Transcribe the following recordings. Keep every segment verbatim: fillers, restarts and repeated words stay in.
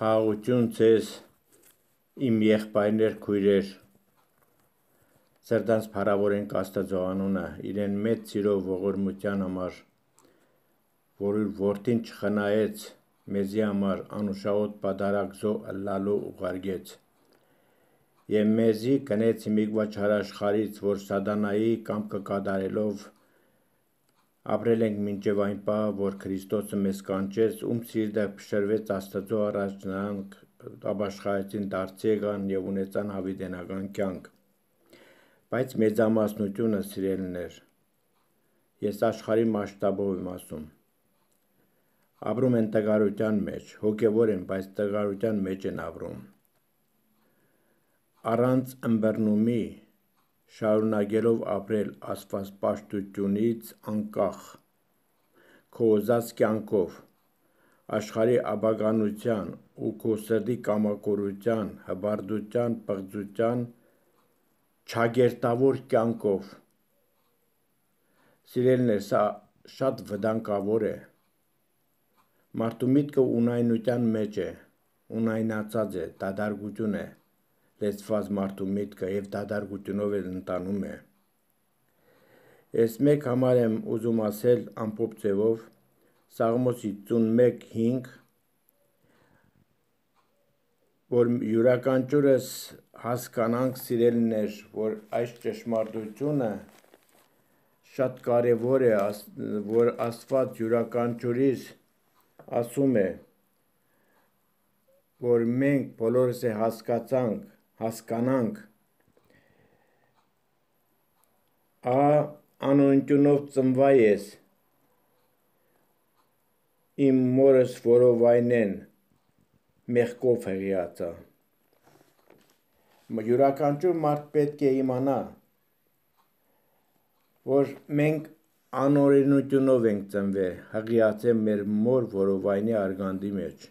Խաղաղություն ձեզ, իմ եղբայրներ, քույրեր, սրտանց փառավորենք Աստծո անունը, իրեն մեծ սիրով ողորմության համար, որ իր որդին չխնայեց, մեզի համար անուշահոտ պատարագ զոհ ըլլալու ուղարկեց, եւ մեզի կնեց հիմիկվա չարաշխարից, որ սատանայի կամքը կատարելով ապրել ենք մինչև այն պահ, որ Քրիստոսը մեզ կանչեց, ում սիրտը փշրվեց Աստծո առաջ, նրանք ապաշխարեցին, դարձի եկան եւ ունեցան հավիտենական կյանք։ Բայց մեծամասնությունը սիրելիներ, ես աշխարհի մասշտաբով եմ ասում, ապրում են տղարության մեջ, հոգևոր են, բայց տղարության մեջ են ապրում։ Առանց ըմբռնումի շարունակելով ապրել աստվածպաշտությունից անկախ, քո ուզած կյանքով, աշխարհի ապագանության ու քո սրտի կամակորության, հպարտության, պղծության, չագերտավոր կյանքով։ Սիրելիներ, սա շատ վտանգավոր է։ Մարդու միտքը ունայնության մեջ է, ունայնացած է, դադարություն է լեցված մարդու միտքը եւ դադարությունով էլ ընտանում է։ Ես մեկ համար եմ ուզում ասել ամփոփ ձևով Սաղմոս հինգ հինգ, որ յուրաքանչյուրս հասկանանք, սիրելիներ, որ այս ճշմարտությունը շատ կարևոր է, որ Աստված յուրաքանչյուրիս ասում է, որ մենք բոլորս է հասկացանք, հասկանանք, ա անօնյունով ծնվա ես, իմ մորս որովայնեն մեղքով հղիացա։ Յուրաքանչյուր մարդ պետք է իմանա, որ մենք անօրենությունով ենք ծնվել, հղիացել մեր մոր որովայնի արգանդի մեջ։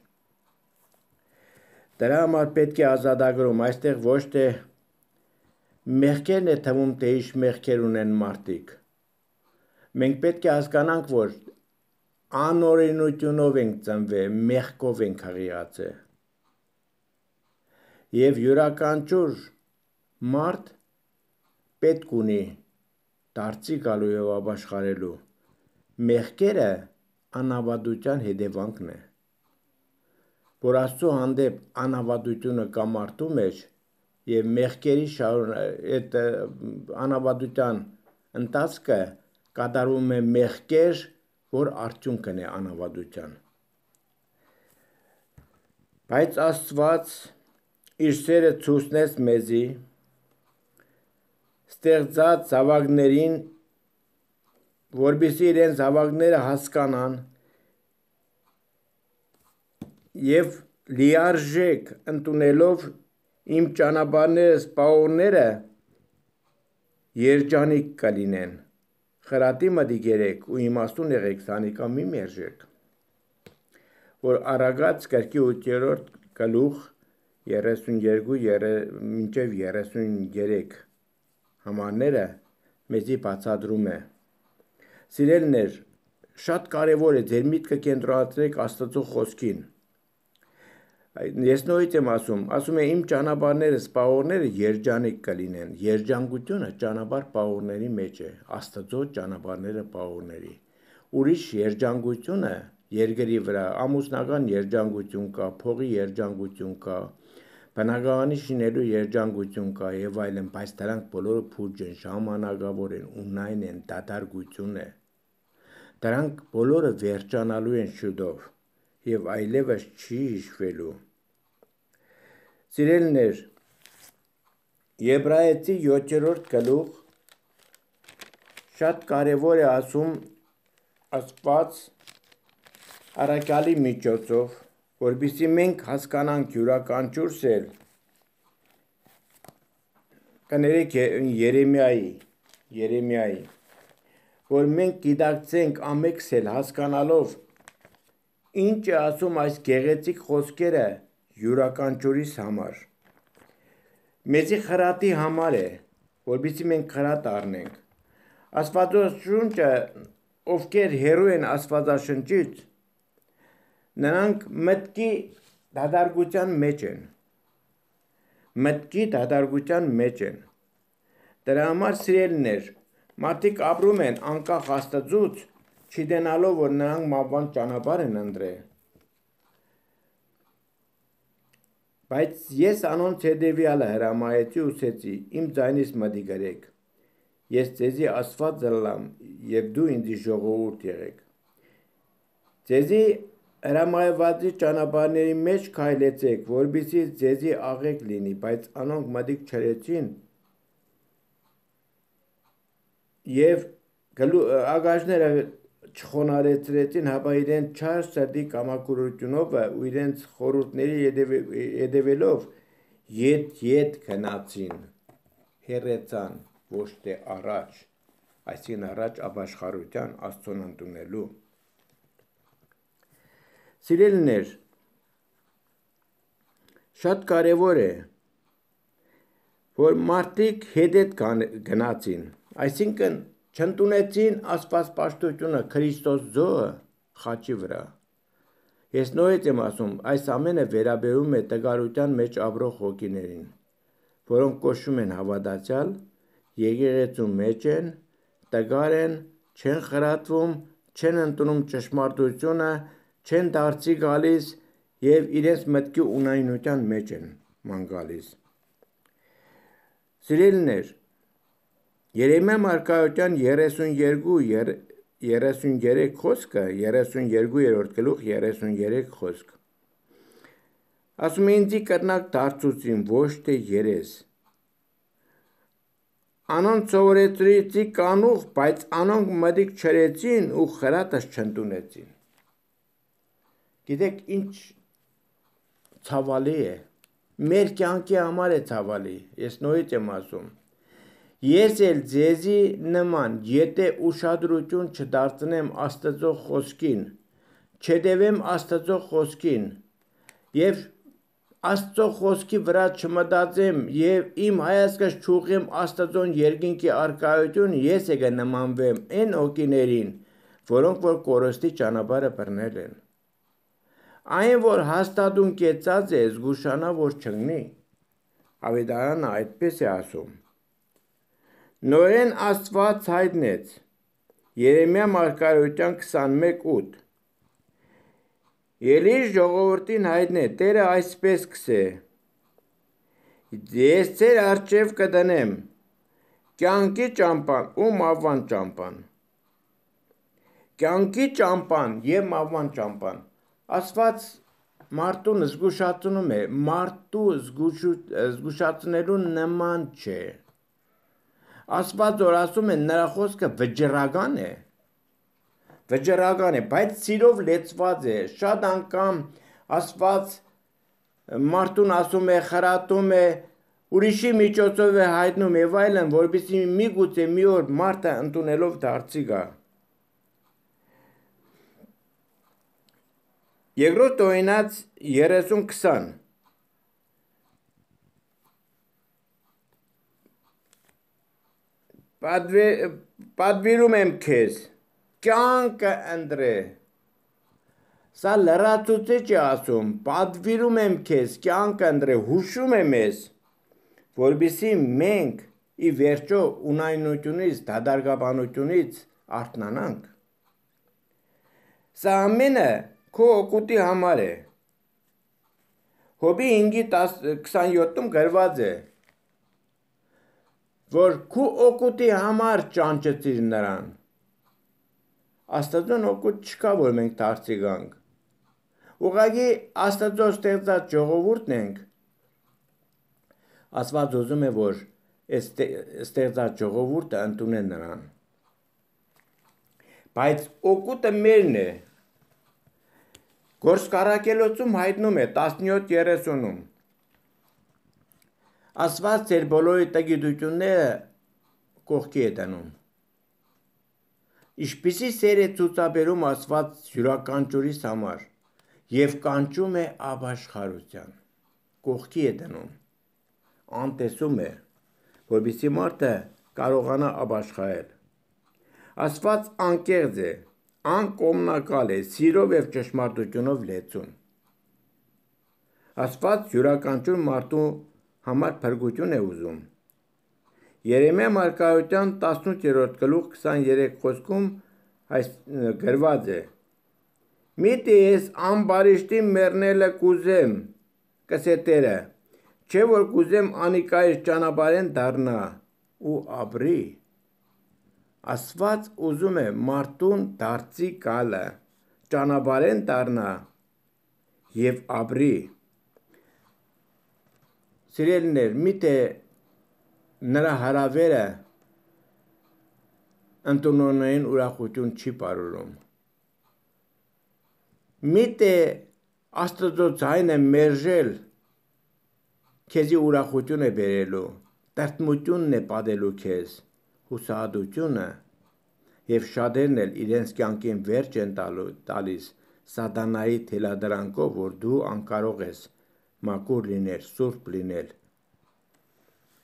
Դրա համար պետք է ազատագրում, այստեղ ոչ թե մեղքերն է թվում, թե ինչ մեղքեր ունեն մարդիկ։ Մենք պետք է հասկանանք, որ անօրենությունով ենք ծնվել, մեղքով ենք հղիացել։ Եվ յուրաքանչյուր մարդ պետք ունի դարձի գալու եւ ապաշխարելու։ Մեղքերը անավատության հետևանքն է, որ Աստծո հանդեպ անավատությունը կա մարդու մեջ եւ մեղքերի այդ անավատության ընթացքը կատարում է մեղքեր, որ արդյունքն է անավատության։ Բայց Աստված իր սերը ցույցնեց մեզի, ստեղծած զավակներին, որպեսզի իրենց զավակները հասկանան եւ լիարժեք ընդունելով իմ ճանապարհները, սպաղողները երջանիկ կլինեն։ Խրատի մտիկ եղեք ու իմաստուն եղեք, սանիկա մի մերժեք։ Որ Առակաց գրքի ութերորդ գլուխ երեսունյերկու մինչև երեսունյերեք համարները մեզի բացատրում է։ Սիրելիներ, շատ կարևոր է ձեր միտքը կենտրոնացրեք Աստծո խոսքին։ Ես նորից եմ ասում, ասում է իմ ճանապարհները, սպաղողները երջանիկ կլինեն։ Երջանկությունը ճանապարհ պաղողների մեջ է, Աստծո ճանապարհները պաղողների։ Ուրիշ երջանկությունը երկրի վրա ամուսնական երջանկություն կա, փողի երջանկություն կա, բնակարանի շինելու երջանկություն կա եւ այլն, բայց դրանք բոլորը փուջ են, ժամանակավոր են, ունայն են, դադարություն է։ Դրանք բոլորը վերջանալու են շուտով եւ այլևս չի հիշվելու։ Սիրելիներ, Եբրայեցի յոթերորդ գլուխ շատ կարևոր է ասում Աստված առաքյալի միջոցով, որպեսզի մենք հասկանանք յուրաքանչյուրս էլ կներեք Երեմիայի, Երեմիայի, որ մենք գիտակցենք ամենքս էլ հասկանալով ինչ է ասում այս գեղեցիկ խոսքերը յուրաքանչյուրիս համար։ Մեզի խրատի համար է, որպեսզի մենք խրատ առնենք։ Աստվածաշունչը, ովքեր հեռու են Աստվածաշնչից, նրանք մտքի դադարգության մեջ են, մտքի դադարգության մեջ են, դրա համար սիրելիներ, մարդիկ ապրում են անկախ Աստծուց, չգիտենալով, որ նրանք մահվան ճանապարհ են ընտրել։ Բայց ես անոնց հետևյալը հրամայեցի ուսեցի, իմ ձայնից մտի գրեք, ես ձեզի Աստված ըլլամ, և դու ինձի ժողովուրդ եղեք։ Ձեզի հրամայվածի ճանապարհների մեջ քայլեցեք, որպեսզի ձեզի աղեք լինի, բայց անոնք մտիկ չրեցին, և ագաժները չխոնարհեցրեցին, հապա իրենց չար սրտի կամակորությունով ու իրենց խորհուրդների հետևելով ետ-ետ գնացին, հեռացան, ոչ թե առաջ, այսինքն առաջ ապաշխարության Աստծուն ընդունելու։ Սիրելիներ, շատ կարևոր է, որ մարդիկ հետ-հետ գնացին, այսինքն չընդունեցին աստվածպաշտությունը Քրիստոս ձողը խաչի վրա։ Ես նորից եմ ասում, այս ամենը վերաբերում է տգարության մեջ ապրող հոգիներին, որոնք կոչվում են հավատացյալ, եկեղեցու մեջ են, տգար են, չեն խրատվում, չեն ընդունում ճշմարտությունը, չեն դարձի գալիս և իրենց մտքի ունայնության մեջ են ման գալիս։ Սիրելիներ, Երեմիա մարգարեության երեսունյոթ երեսունյոթ խոսքը, երեսունյոթ գլուխ երեսունյոթ խոսք։ Ասում է ինձի կրնակ դարձուցին, ոչ թե երես։ Անոնց սովորեցրեցի կանուխ, բայց անոնք մտիկ չրեցին ու խրատս չընդունեցին։ Գիտեք ինչ ցավալի է։ Մեր կյանքի համար է ցավալի, ես նորից եմ ասում։ Ես էլ ձեզի նման, եթե ուշադրություն չդարձնեմ Աստծո խոսքին, չդևեմ Աստծո խոսքին և Աստծո խոսքի վրա չմտածեմ և իմ հայացքը չուղղեմ Աստծոն երկինքի առկայություն, ես է կնմանվեմ այն հոգիներին, որոնք որ կորստի ճանապարհը բռնել են։ Այն, որ հաստատուն կեցած է, զգուշանա, որ չընկնի։ Ավետարանը այդպես է ասում։ Նորեն Աստված հայտնեց Երեմիա մարգարեության քսանմեկ ութ։ Ելիր ժողովրդին հայտնե, Տերը այսպես կսե. Ես ձեր առջև կդնեմ կյանքի ճամփան ու մահվան ճամփան։ Կյանքի ճամփան և մահվան ճամփան։ Աստված մարդուն զգուշացնում է, մարդու զգուշացնելու նման չէ։ Աստված որ ասում է, նրա խոսքը վճռական է, վճռական է, բայց սիրով լեցված է, շատ անգամ Աստված մարդուն ասում է, խրատում է, ուրիշի միջոցով է հայտնում եւ այլն, որպեսզի միգուցե մի օր մարդը ընդունելով դարձի գա։ Երկրորդ օրինաց երեսուն քսան։ Պատվիրում եմ քեզ, կյանքը ընտրե։ Սա լրացուցիչ է ասում, պատվիրում եմ քեզ, կյանքը ընտրե, հուշում է մեզ, որպեսզի մենք ի վերջո ունայնությունից, դադարգաբանությունից արթնանանք։ Սա ամենը քո օգուտի համար է։ Հոբի հինգի քսանյոթում գրված է, որ քո օգուտի համար ճանճեցիր նրան։ Աստծոն օգուտ չկա, որ մենք դարձի գանք։ Ուղղակի Աստծո ստեղծած ժողովուրդն ենք։ Աստված ուզում է, որ ստեղծած ժողովուրդը ընդունեն նրան։ Բայց օգուտը մերն է։ Գործկարակելոցում հայտնում է տասնյոթ երեսունում։ Աստված ձեր բոլորի տգիտությունները կողքի է դնում։ Ինչպիսի սեր է ցուցաբերում Աստված յուրաքանչյուրիս համար և կանչում է ապաշխարության, կողքի է դնում, անտեսում է, որպեսզի մարդը կարողանա ապաշխարել։ Աստված անկեղծ է, անկողմնակալ է, սիրով և ճշմարտությունով լեցուն։ Աստված յուրաքանչյուր մարդու համար փրկություն է ուզում։ Երեմիա մարգարեության տասնութերորդ գլուխ քսաներեք խոսքում այս գրված է. «Միթե ես ամբարիշտի մեռնելը կուզեմ, կսետերը, չէ որ կուզեմ անիկայից ճանապարհեն դառնա ու ապրի»։ Աստված ուզում է մարդուն դարձի գալը, ճանապարհեն դառնա եւ ապրի։ Սիրելիներ, միթե նրա հարավերը ընդունողներին ուրախություն չի բարուրում։ Միթե Աստծո ձայնը մերժել քեզի ուրախություն է բերելու, տրտմությունն է պատելու քեզ, հուսահատությունը, եւ շատերն էլ իրենց կյանքին վերջ են տալիս սատանայի թելադրանքով, որ դու անկարող ես մաքուր լինել, սուրբ լինել։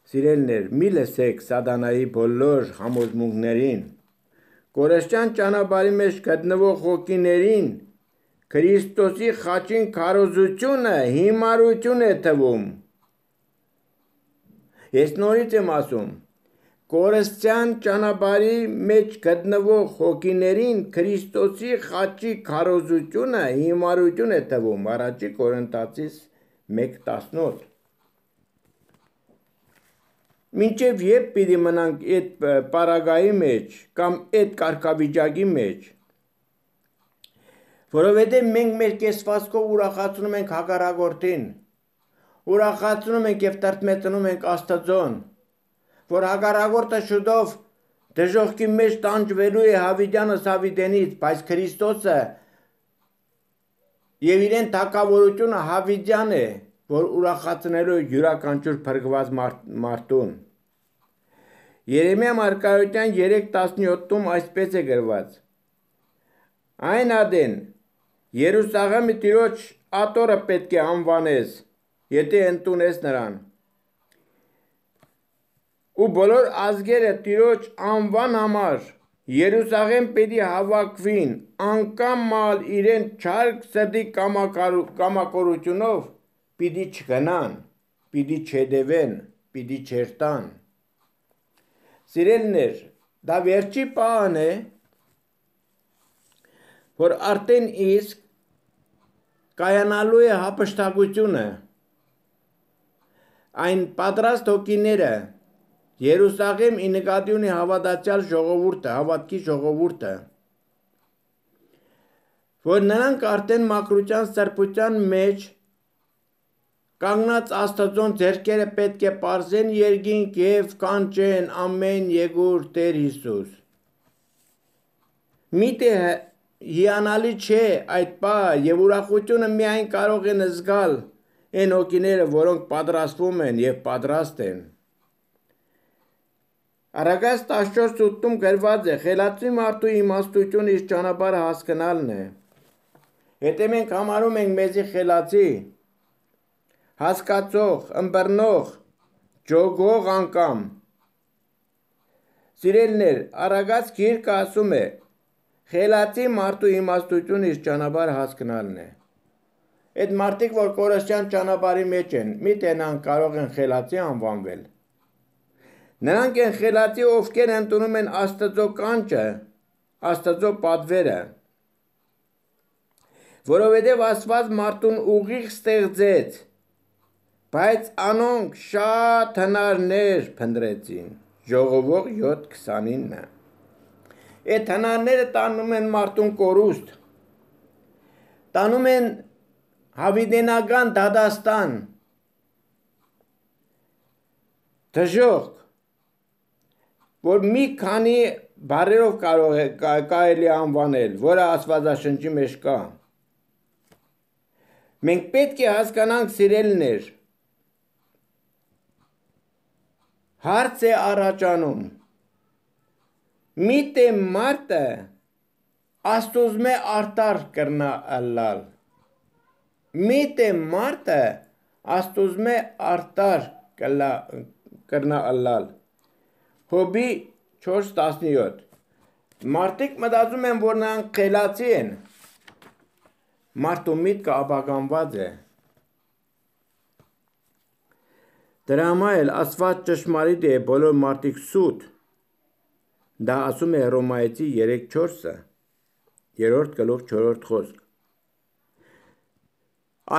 Սիրելիներ, մի լսեք սատանայի բոլոր համոզմունքներին։ Կորստյան ճանապարհի մեջ գտնվող հոգիներին Քրիստոսի խաչին քարոզությունը հիմարություն է թվում։ Ես նորից եմ ասում, կորստյան ճանապարհի մեջ գտնվող հոգիներին Քրիստոսի խաչի քարոզությունը հիմարություն է թվում։ Առաջի Կորինթացիս մեկ տասնութ։ Մինչև երբ պիտի մնանք այդ պարագայի մեջ կամ այդ կարգավիճակի մեջ, որովհետև մենք մեր կեսվածքով ուրախացնում ենք հակառակորդին, ուրախացնում ենք եւ տրտմեցնում ենք Աստծուն, որ հակառակորդը շուտով դժոխքի մեջ տանջվելու է Հավիտյանը Սավիտենից, բայց Քրիստոսը եւ իրեն թակավորությունը Հավիտյան է, որ ուրախացնելու յուրաքանչյուր փրկված մարդուն։ Երեմիա մարգարեության երեք տասնյոթում այսպես է գրված. «Այն ադեն Երուսաղեմի Տիրոջ աթոռը պետք է անվանես, եթե ընդունես նրան, ու բոլոր ազգերը Տիրոջ անվան համար Երուսաղեմ պետք է հավաքվին, անկամալ իրեն չարք սրտի կամակորությունով պիտի չգնան, պիտի չհետևեն, պիտի չերտան»։ Սիրելիներ, դա վերջի պահն է, որ արդեն իսկ կայանալու է հափշտակությունը, այն պատրաստ հոգիները, Երուսաղեմ ի նկատի ունի հավատացյալ ժողովուրդը, հավատքի ժողովուրդը, որ նրանք արդեն մաքրության սրբության մեջ կանգնած Աստծուն ձեռքերը պետք է պարզեն երկինք եւ կանչեն ամեն եկուր Տեր Հիսուս։ Միթե հիանալի չէ այդ պահը եւ ուրախությունը միայն կարող են զգալ այն հոգիները, որոնք պատրաստվում են եւ պատրաստ են։ Արագած տասնչորս ութում գրված է. «Խելացի մարդու իմաստությունը իր ճանապարհը հասկանալն է»։ Եթե մենք համարում ենք մեզի խելացի, հասկացող, ըմբռնող, ջոգող անգամ, սիրելիներ, Արագած գիրքը ասում է. «Խելացի մարդու իմաստությունը իր ճանապարհը հասկանալն է»։ Այդ մարդիկ, որ կորստյան ճանապարհի մեջ են, միթե նրանք կարող են խելացի անվանվել։ Նրանք են խելացի, ովքեր ընդունում են Աստծո կանչը, Աստծո պատվերը, որովհետև Աստված մարդուն ուղիղ ստեղծեց, բայց անոնք շատ հնարներ փնտրեցին։ Ժողովող յոթ քսանինը։ Այդ հնարները տանում են մարդուն կորուստ, տանում են հավիտենական դատաստան, դժոխք, որ մի քանի բառերով կարող է կարելի անվանել, որը Աստվածաշնչի մեջ կա։ Մենք պետք է հասկանանք, սիրելիներ, հարց է առաջանում. միթե մարդը Աստուծմե արտար կրնա ըլլալ։ Միթե մարդը Աստուծմե արտար կրնա ըլլալ։ Հոբի չորս տասնյոթ։ Մարդիկ մտածում են, որ նրանք խելացի են։ Մարդու միտքը ապականված է։ Դրա համար էլ Աստված ճշմարիտ է, բոլոր մարդիկ սուտ։ Դա ասում է Հռոմայեցի երեք չորսը, երրորդ գլուխ չորրորդ խոսք։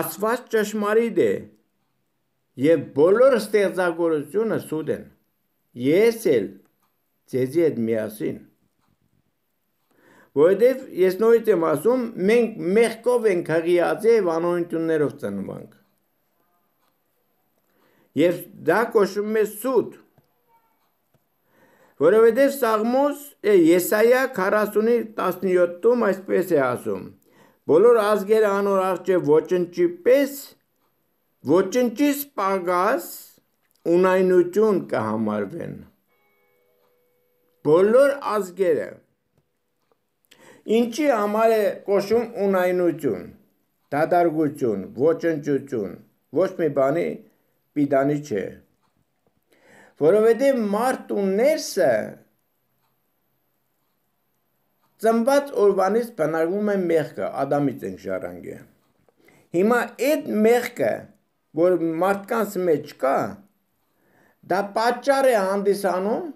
Աստված ճշմարիտ է, եւ բոլոր ստեղծագործությունը սուտ են։ Ես էլ ձեզի հետ միասին։ Որովհետև ես նորից եմ ասում, մենք մեղքով ենք հղիացել եւ անօրենություններով ծնվանք։ Եվ դա կոչվում է սուտ։ Որովհետև Սաղմոս Եսայա քառասունի տասնյոթում այսպես է ասում. բոլոր ազգերը անոր առջև ոչնչի պես, ոչնչի սպագաս ունայնություն կհամարվեն։ Բոլոր ազգերը ինչի համար է կոչում ունայնություն, դադարգություն, ոչնչություն, ոչ մի բանի պիտանի չէ։ Որովհետև մարդ ու ներսը ծնված օրվանից բնակվում է մեղքը, Ադամից ենք ժառանգել։ Հիմա այդ մեղքը, որ մարդկանց մեջ կա, դա պատճառ է հանդիսանում,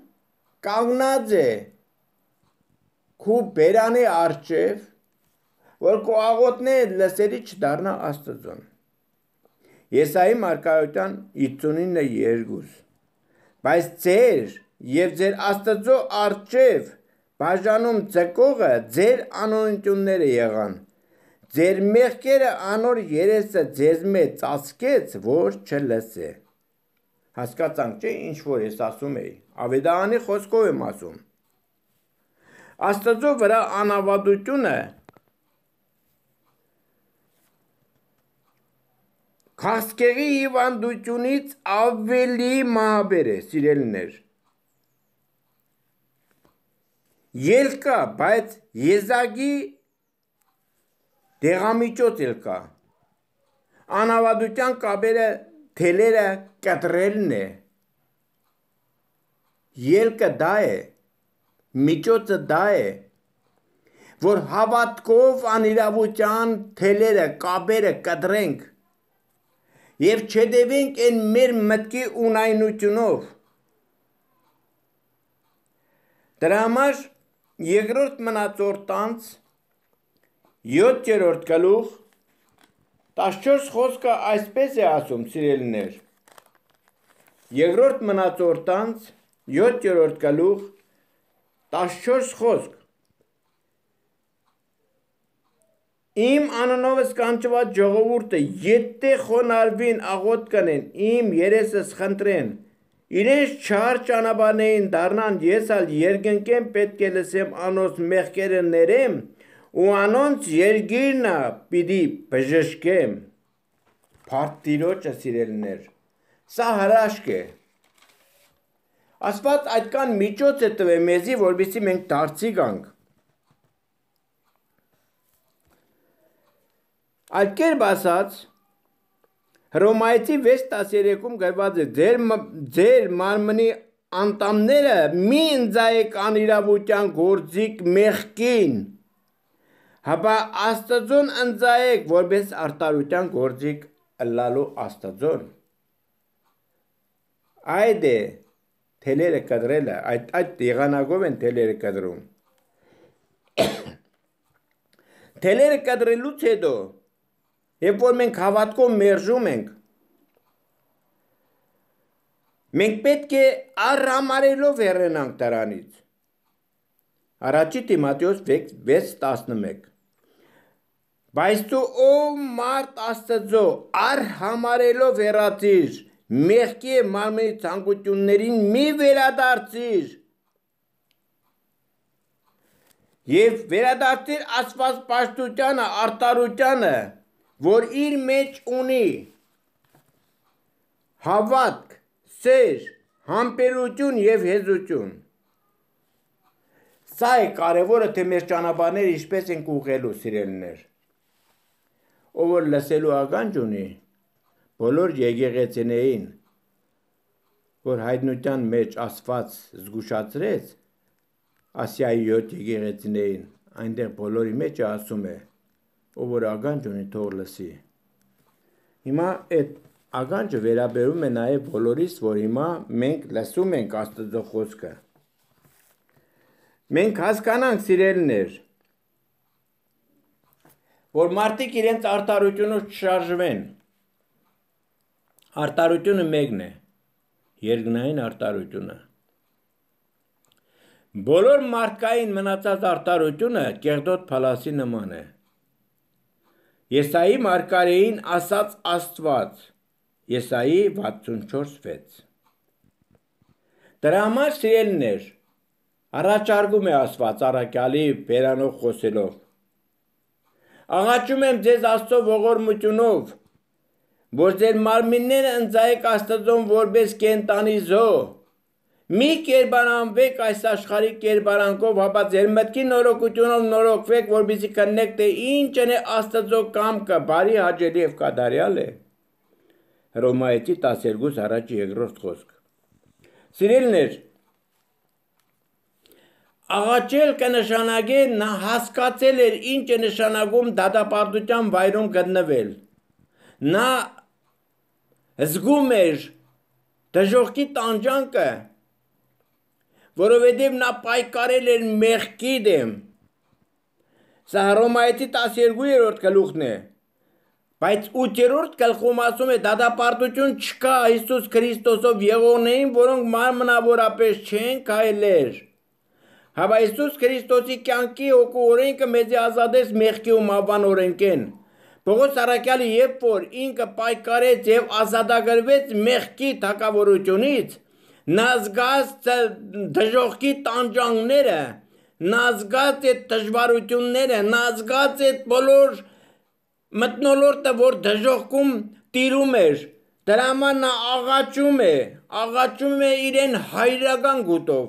կանգնած է քու բերանի առջև, որ քո աղոթները լսելի չդառնա Աստծուն։ Եսայի մարգարեության հիսունինը երկու Բայց ձեր եւ ձեր Աստծո առջև բաժանում ձգողը ձեր անօրենությունները եղան։ Ձեր մեղքերը անոր երեսը ձեզ մեջ ծածկեց, որ չլսե։ Հասկացանք, չէ՞, ինչ որ ես ասում էի։ Ավետարանի խոսքով եմ ասում։ Աստծո վրա անավատությունը քաղցկեղի հիվանդությունից ավելի մահաբեր է, սիրելիներ։ Ելքա, բայց եզակի դեղամիջոց էլ կա։ Անավատության կապերը թելերը կտրելն է։ Ելքը դա է, միջոցը դա է, որ հավատքով անիրավության թելերը, կապերը կտրենք եւ չդեվենք այն մեր մտքի ունայնությունով։ Դրա համար երկրորդ մնացորդանց յոթերորդ գլուխ տասնչորս խոսքը այսպես է ասում, սիրելիներ։ Երկրորդ մնացորդանց յոթերորդ գլուխ տասնչորս խոսք։ Իմ անունովս կանչված ժողովուրդը եթե խոնարհվին աղոթք կանեն, իմ երեսս խնդրեն, իրենց չար ճանապարհներին դառնան, ես ալ երկնքեն պետք է լսեմ անոնց մեղքերը ներեմ ու անոնց երկիրնը պիտի բժշկեմ։ Փառք Տիրոջը, սիրելիներ, սա հրաշք է։ Աստված այդքան միջոց է տվել մեզի, որպեսզի մենք դարձի գանք։ Այդ կերպ ասած, Հռոմայեցի վեց տասներեքում գրված է. ձեր, ձեր մարմնի անդամները մի ընձայեք անիրավության գործիք մեղքին, հապա Աստծուն ընձայեք, որպես արդարության գործիք ըլլալու Աստծուն։ Այդ է թելերը կտրելը, այդ, այդ եղանակով են թելերը կտրում։ Թելերը կտրելուց հետո, երբ որ մենք հավատքով մերժում ենք, մենք պետք է առհամարելով հեռանանք դրանից։ Առաջի Տիմոթեոս վեց տասնմեկ Բայց դու ով մարդ Աստծո առհամարելով հեռացիր, մեղքի և մարմնի ցանկություններին մի վերադարձիր և վերադարձիր Աստված պաշտությանը, արդարությանը, որ իր մեջ ունի հավատք, սեր, համբերություն և հեզություն։ Սա է կարևորը, թե մեր ճանապարհները ինչպես ենք ուղղելու, սիրելիներ։ Ով որ լսելու ականջ ունի, բոլոր եկեղեցիներին, որ հայտնության մեջ Աստված զգուշացրեց Ասիայի յոթ եկեղեցիներին, այնտեղ բոլորի մեջ ասում է, ով որ ականջ ունի, թող լսի։ Հիմա այդ աղանջը վերաբերում է նաև բոլորիս, որ հիմա մենք լսում ենք Աստծո խոսքը։ Մենք հասկանանք, սիրելիներ, որ մարդիկ իրենց արտարությունով չշարժվեն։ Արտարությունը մեկն է, երկնային արտարությունը։ Բոլոր մարդկային մնացած արտարությունը կեղտոտ փալասի նման է։ Եսայի մարգարեին ասաց Աստված, Եսայի վաթսունչորս վեց։ Դրա համար, սիրելիներ, առաջարկում է Աստված առաքյալի բերանով խոսելով։ Աղաչում եմ ձեզ Աստծո ողորմությունով, որ ձեր մարմինները ընծայեք Աստծուն որպես կենդանի զոհ, մի կերպարանվեք այս աշխարհի կերպարանքով, հապա ձեր մտքի նորոգությունով նորոգվեք, որպեսզի քննեք, թե ինչն է Աստծո կամքը, բարի, հաճելի եւ կատարյալ է։ Հռոմայեցի տասներկու առաջի երկրորդ խոսք։ Սիրելիներ, աղաչել կնշանակե նա հասկացել էր ինչ է նշանակում դատապարտության վայրում գտնվել։ Նա զգում էր դժոխքի տանջանքը, որովհետև նա պայքարել էր մեղքի դեմ։ Սա Հռոմայեցի տասներկուերորդ գլուխն է, բայց ութերորդ գլխում ասում է դատապարտություն չկա Հիսուս Քրիստոսով եղողներին, որոնք մարմնավորապես չեն քայլեր։ Հապա Հիսուս Քրիստոսի կյանքի հոգու օրենքը մեզ ազատեց մեղքի ու մահվան օրենքեն։ Պողոս առաքյալը երբ որ ինքը պայքարեց եւ ազատագրվեց մեղքի թակավորությունից, նա զգաց դժոխքի տանջանքները, նա զգաց այդ դժվարությունները, նա զգաց այդ բոլոր մթնոլորտը, որ դժոխքում տիրում էր։ Դրա համար նա աղաչում է, աղաչում է իրեն հայրական գուտով,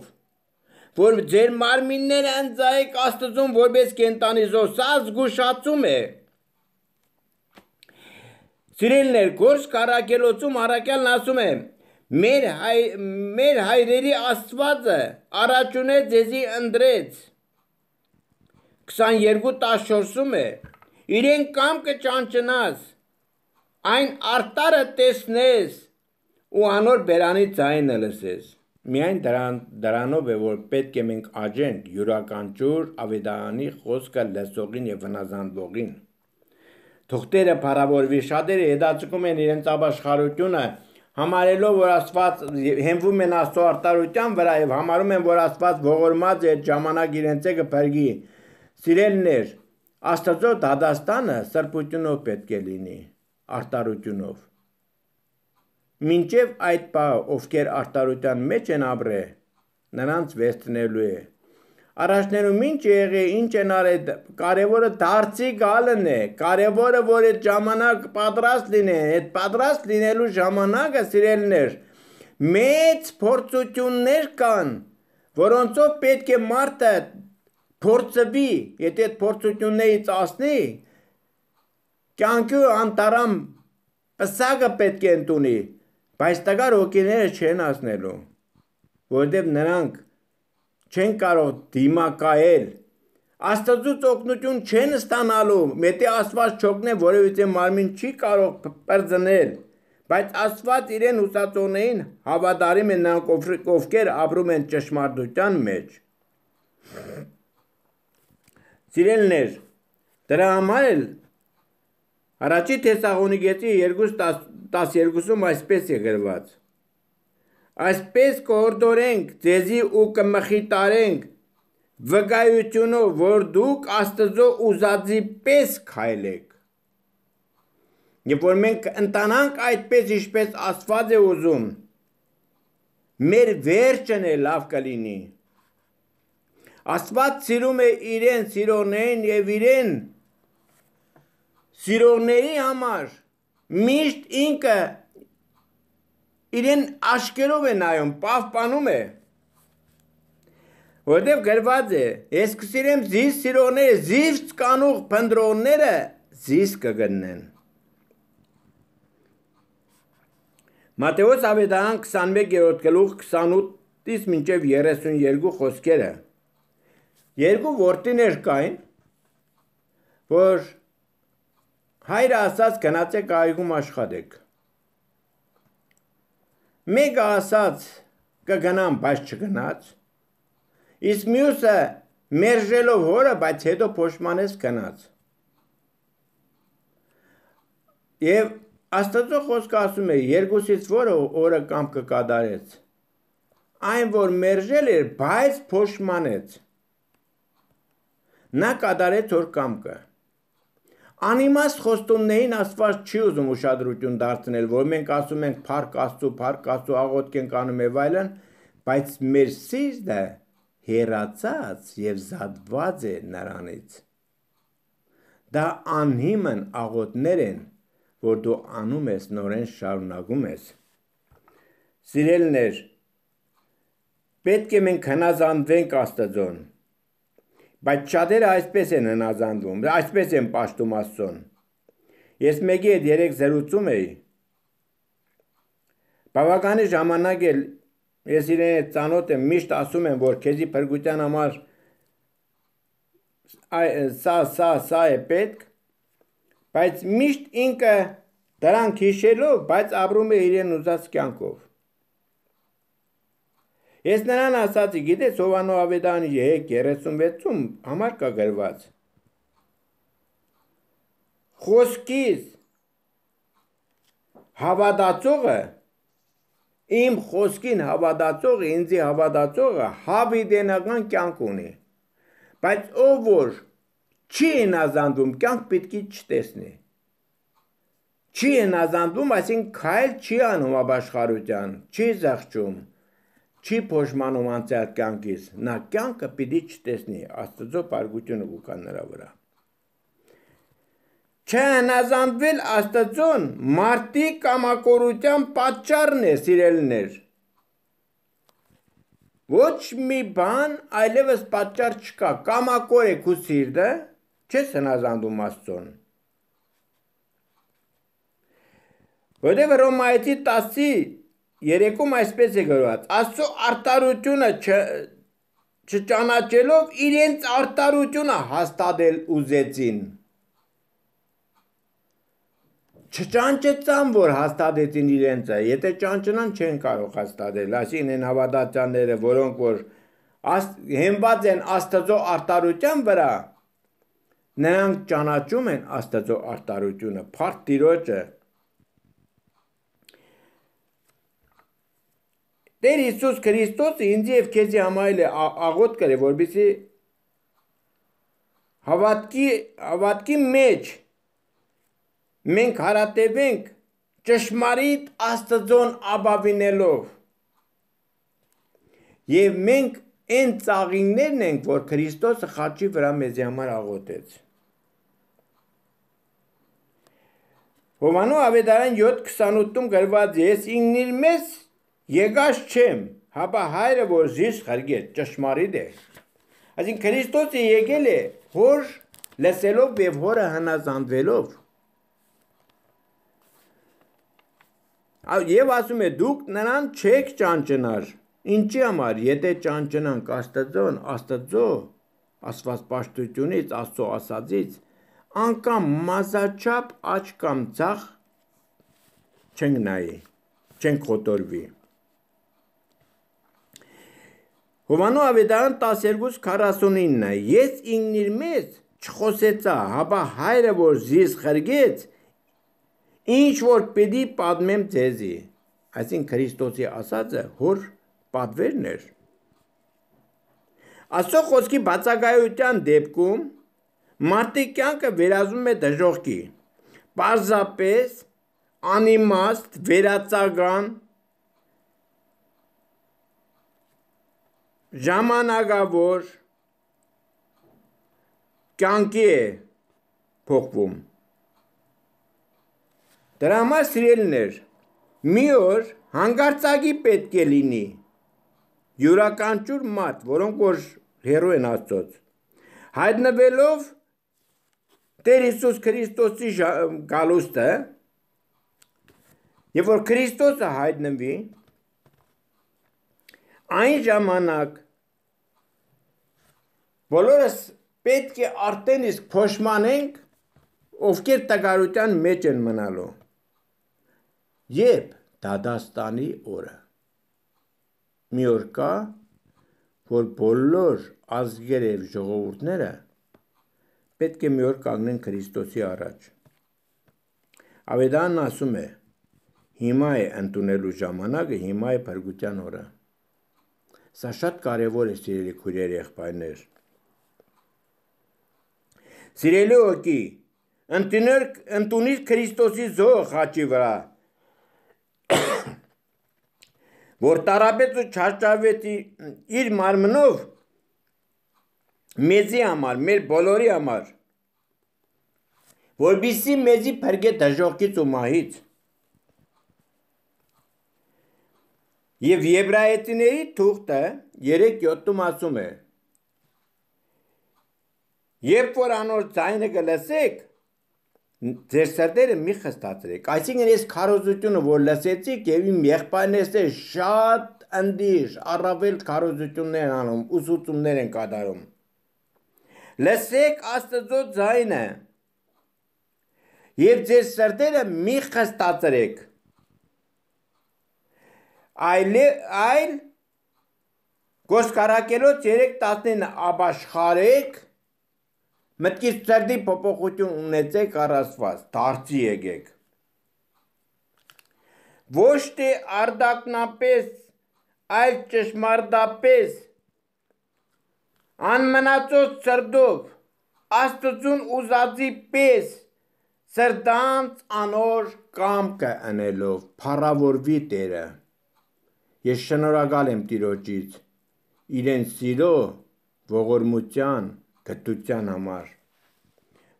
որ ձեր մարմինները ընծայեք Աստծուն որպես կենդանի զոհ, սա զգուշացում է։ Սիրելիներ, Գործք առաքելոցում առաքյալն ասում է. Մեր, հայ, մեր հայրերի Աստվածը առաջունե ձեզի ընտրեց։ քսաներկու տասնչորսում է. Իրեն կամքը ճանչնաս, այն արտարը տեսնես ու անոր բերանի ձայնը լսես։ Միայն դրան, դրանով է, որ պետք է մենք աջենք յուրաքանչյուր ավետարանի խոսքը լսողին եւ վնազանդվողին։ Թուղթերը փառավորվի, շատերը հետաձգում են իրենց ապաշխարությունը, համարելով, որ Աստված հենվում են Աստծո արտարության վրա եւ համարում են, որ Աստված ողորմած է այդ ժամանակ իրենց կփրկի։ Սիրելիներ, Աստծո դատաստանը սրբությունով պետք է լինի, արտարությունով։ Մինչև այդ բանը, ովքեր արտարության մեջ են ապրել, նրանց վերցնելու է։ Առաջներում ինչ եղե, ինչ են արել, կարևորը դարձի գալն է, կարևորը, որ այդ ժամանակ պատրաստ լինեն, այդ պատրաստ լինելու ժամանակը, սիրելիներ, մեծ փորձություններ կան, որոնցով պետք է մարդը փորձվի, եթե այդ փորձություններից ասնի, կյանքի անտարամ պսակը պետք է ընդունի, բայց տկար հոգիները չեն ասնելու, որովհետև նրանք չեն կարող դիմակայել, Աստծուց օգնություն չեն ստանալու, մետի Աստված չօգնե, որովհետև մարմին չի կարող պրծնել, բայց Աստված իրեն ուսացողներին հավատարիմ են նրանք, ովքեր ապրում են ճշմարտության մեջ։ Սիրելիներ, դրա համար էլ Առաջի Թեսաղոնիկեցի երկու տասներկուսում այսպես է գրված. Այսպես կհորդորենք ձեզի ու կմխիտարենք վկայությունով, որ դուք Աստծո ուզածի պես քայլեք։ Երբ որ մենք ընտանանք այդպես, ինչպես Աստված է ուզում, մեր վերջն է լավ կլինի։ Աստված սիրում է իրեն սիրողներին եւ իրեն սիրողների համար միշտ ինքը իրեն աշկերով է նայում, պահպանում է, որտեղ գրված է, ես կսիրեմ զիս սիրողները, զիս կանուղ փնտրողները զիս կգտնեն։ Մատթեոս ավետարան քսանմեկերորդ գլուխ քսանութից մինչև երեսունյերկու խոսքերը։ Երկու որդիներ կային, որ հայրը ասաց գնացեք այգում աշխատեք։ Մեկը ասաց կգնամ, բայց չգնաց, իսկ մյուսը մերժելով հորը, բայց հետո փոշմանեց գնաց։ Եվ Աստծո խոսքը ասում է, երկուսից որը օրը կամքը կատարեց, այն որ մերժել էր, բայց փոշմանեց, նա կատարեց որ կամքը։ Անիմաստ խոստումներին Աստված չի ուզում ուշադրություն դարձնել, որ մենք ասում ենք փառք Աստծո, փառք Աստծո, աղոթք ենք անում եւ այլն, բայց մեր սիրտը հեռացած եւ զատված է նրանից։ Դա անհիմն աղոթներ են, որ դու անում ես, նորեն շարունակում ես։ Սիրելիներ, պետք է մենք հնազանդվենք Աստծուն, բայց շատերը այսպես են հնազանդվում, այսպես են պաշտում Աստծուն։ Ես մեկի հետ երեք զրուցում էի, բավականի ժամանակ էլ ես իրեն հետ ծանոթ եմ, միշտ ասում եմ, որ քեզի փրկության համար սա, սա, սա է պետք, բայց միշտ ինքը դրանք հիշելով, բայց ապրում է իրեն ուզած կյանքով։ Ես նրան ասացի, գիտես Հովանո Ավետարանի երեսունվեցում համար կա գրված։ Խոսքից հավատացողը, իմ խոսքին հավատացողը, ինձի հավատացողը հավիտենական կյանք ունի։ Բայց ով որ չի հնազանդվում, կյանք պետք է չտեսնի։ Չի հնազանդվում, այսինքն քայլ չի անում ապաշխարության, չի զղջում, չի փոշմանում անցյալ կյանքից, նա կյանքը պիտի չտեսնի, Աստծո փառքությունը կուքա նրա վրա։ Չհնազանդվել Աստծուն մարդի կամակորության պատճառն է, սիրելիներ։ Ոչ մի բան այլևս պատճառ չկա, կամակոր է քո սիրտը, չես հնազանդում Աստծուն։ Որտեղ Հռոմայեցի տասի երեքում այսպես է գրված. Աստծո արտարությունը չճանաչելով իրենց արտարությունը հաստատել ուզեցին։ Չճանճեցան, որ հաստատեցին իրենցը, եթե ճանճնան չեն կարող հաստատել, այսինքն են հավատացյալները, որոնք որ հենված են Աստծո արտարության վրա, նրանք ճանաչում են Աստծո արտարությունը, փառք Տիրոջը։ Տեր Հիսուս Քրիստոսը ինձ եւ քեզի համայել է աղոթ կրե, որպեսզի հավատքի հավատքի մեջ մենք հարատևենք ճշմարիտ Աստծուն ապավինելով եւ մենք այն ծաղիններն ենք, որ Քրիստոսը խաչի վրա մեզի համար աղոթեց։ Հովանո Ավետարան յոթ քսանութում գրված է. ես ինքնիր մեզ եկած չեմ, հապա հայրը որ զիս խրգեց, ճշմարիտ է։ Այսինքն Քրիստոսը եկել է հոր լսելով եւ հորը հնազանդվելով։ Եվ ասում է դուք նրան չեք ճանճնար, ինչի համար, եթե ճանճնանք Աստծուն, Աստծո աստվածպաշտությունից, Աստծո ասածից, անգամ մազաչափ աչք կամ ձախ չենք նայի, չենք խոտորվի։ Հովանո Ավետարան տասներկու քառասունինը ես ինքնիր մեզ չխոսեցա, հապա հայրը որ զիս խրգեց, ինչ որ պիտի պատմեմ ձեզի, այսինքն Քրիստոսի ասածը հոր պատվերն էր։ Աստծո խոսքի բացակայության դեպքում մարդի կյանքը վերածվում է դժոխքի, պարզապես անիմաստ, վերացական, ժամանակավոր կյանքի է փոխվում։ Դրա համար սիրելիներ, մի օր հանգարցակի պետք է լինի յուրաքանչյուր մարդ, որոնք որ հերո են Աստծոց, հայտնվելով Տեր Հիսուս Քրիստոսի գալուստը, եւ որ Քրիստոսը հայտնվի, այն ժամանակ բոլորս պետք է արդեն իսկ փոշմանենք, ովքեր տգարության մեջ են մնալու։ Երբ դադաստանի օրը։ Մի օր կա, որ բոլոր ազգերը եւ ժողովուրդները պետք է մի օր կանգնեն Քրիստոսի առաջ։ Ավետարանն ասում է. հիմա է ընդունելու ժամանակը, հիմա է փրկության օրը։ Սա շատ կարևոր է, սիրելի քույրեր, եղբայրներ։ Սիրելի ոգի, ընդունիր Քրիստոսի զոհը խաչի վրա, որ տարապեց ու չարչարվեց իր մարմնով մեզի համար, մեր բոլորի համար, որպեսզի մեզի փրկե դժոխքից ու մահից։ Եվ Եբրայեցիների թուղթը երեք յոթում ասում է. երբ որ անոր ձայնը կլսեք, ձեր սրտերը մի խստացրեք։ Այսինքն այս քարոզությունը, որ լսեցիք եւ իմ եղբայրներս է շատ ընդիշ, առավել քարոզություններ անում, ուսուցումներ են կատարում։ Լսեք Աստծո ձայնը եւ ձեր սրտերը մի խստացրեք։ Այլ այլ Գոսկարակելոց երեք տասնինը ապաշխարեք, մտքից սրտի փոփոխություն ունեցեք առասված, դարձի եկեք։ Ոչ թե արդակնապես, այլ ճշմարտապես, անմնացած սրտով, Աստծուն ուզածի պես, սրտանց անոր կամքը անելով, փառավորվի Տերը։ Ես շնորհակալ եմ Տիրոջից, իրեն սիրո, ողորմության, գթության համար,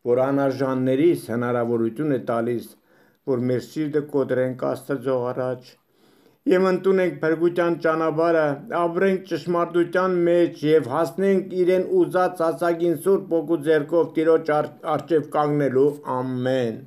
որ անարժաններիս հնարավորություն է տալիս, որ մեր սիրտը կոտրենք Աստծո առաջ եւ ընդունենք փրկության ճանապարհը, ապրենք ճշմարտության մեջ եւ հասնենք իրեն ուզած հասակին Սուրբ Օգու ձեռքով Տիրոջ առջև կանգնելու։ Ամեն։